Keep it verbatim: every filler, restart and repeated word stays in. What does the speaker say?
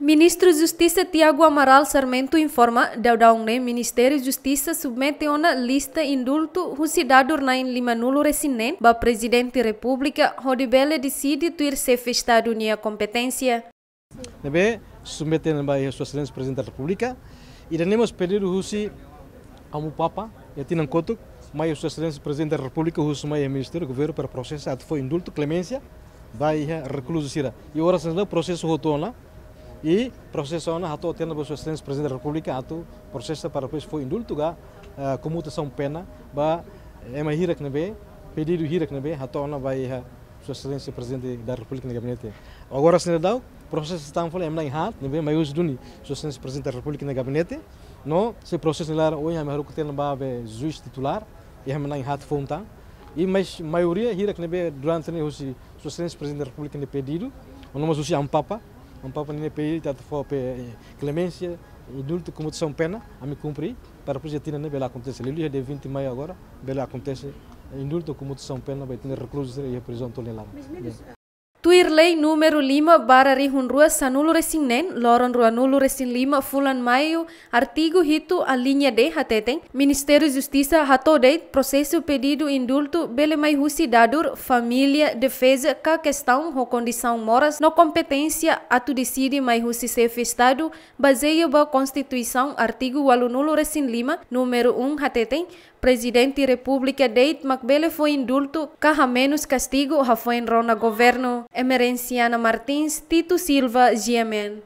Ministru Justisa Tiago Amaral Sarmento informa, daudaun ne'e Ministériu Justisa submete ona lista indultu husi dadur na'in lima-nulu resin neen ba Prezidente Repúblika hodi bele deside tuir Xefe Estadu nia kompeténsia. Ne'ebé submete ona ba iha Sua Exelénsia Prezidente da Repúblika, ida-ne'e mós pedidu husi Amu Papa, iha tinan kotuk, mai Sua Exelénsia Prezidente da Repúblika, husu mai iha Ministériu Governu para prosesa atu fó indultu, kleménsia ba iha rekluzu sira. I oras ne'e prosesu hotu ona, i prosesu ona hato'o tiha ona ba Sua Exelénsia Prezidente da Repúblika atu prosesa para depois fó indultu ka, eh, komutasaun pena ba ema hirak ne'ebé, pedidu hirak ne'ebé hato'o ona ba iha Sua Exelénsia Prezidente da Repúblika nia gabinete. Agora seidauk, prosesu tan fali ema na'in haat ne'ebé mai husi duni Sua Exelénsia Prezidente da Repúblika nia gabinete. No, sei prosesu ne'e laran ohin ami haruka tiha ona ba be juís titulár, i ema na'in haat foun tan. I mais maioria hirak ne'ebé durante ne'e husi Sua Exelénsia Prezidente da Repúblika nia pedidu, no mós husi Amu Papa, Amu Papa nia pedidu atu fó be kleménsia, indultu, komutasaun pena, ami kumpre, para depois iha tinan ne'e bele akontese. Liuliu iha dia vinte de maio agora, bele akontese indultu, komutasaun pena ba ita-nia rekluzu sira iha prizaun tolu nia laran. Tuir lei númeru lima barra rihun rua sanulu resin neen, loron ruanulu resin lima fulan Maiu, artigu hitu alínea D hateten, Ministériu Justisa hato'o de'it prosesu pedidu indultu bele mai husi dadur, família, defeza ka kestaun ho kondisaun moras no kompeténsia atu deside mai husi Xefe Estadu, bazeia ba Konstituisaun artigu ualunulu resin lima, númeru um hateten, Prezidente Repúblika de'it mak bele fó indultu ka hamenus kastigu hafoin rona governu. Emerenciana Martins, Tito Silva, G M N.